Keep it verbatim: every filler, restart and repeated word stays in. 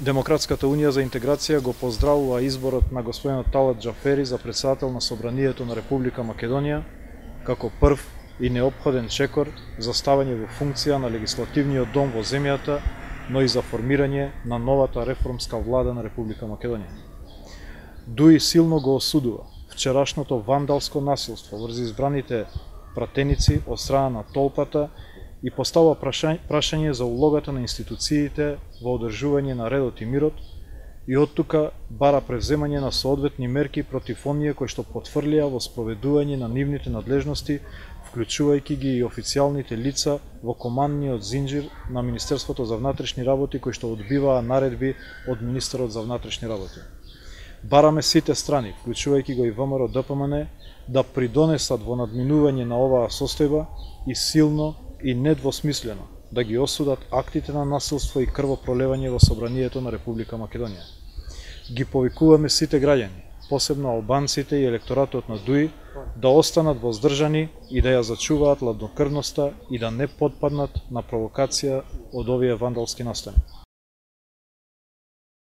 Демократската унија за интеграција го поздравува изборот на господинот Талат Џафери за председател на Собранието на Република Македонија како прв и неопходен чекор за ставање во функција на легислативниот дом во земјата, но и за формирање на новата реформска влада на Република Македонија. Дуи силно го осудува вчерашното вандалско насилство врз избраните пратеници од страна на толпата и постава прашање за улогата на институциите во одржување на редот и мирот и оттука бара превземање на соодветни мерки против оние кои што потврлија во спроведување на нивните надлежности, вклучувајќи ги и официјалните лица во командниот зинџир на Министерството за внатрешни работи кои што одбиваа наредби од министерот за внатрешни работи. Бараме сите страни, вклучувајќи го и ВМРО Д П М Н, да придонесат во надминување на оваа состојба и силно и недвосмислено да ги осудат актите на насилство и крвопролевање во Собранието на Република Македонија. Ги повикуваме сите граѓани, посебно албанците и електоратот на Дуи, да останат воздржани и да ја зачуваат ладнокрвноста и да не потпаднат на провокација од овие вандалски настани.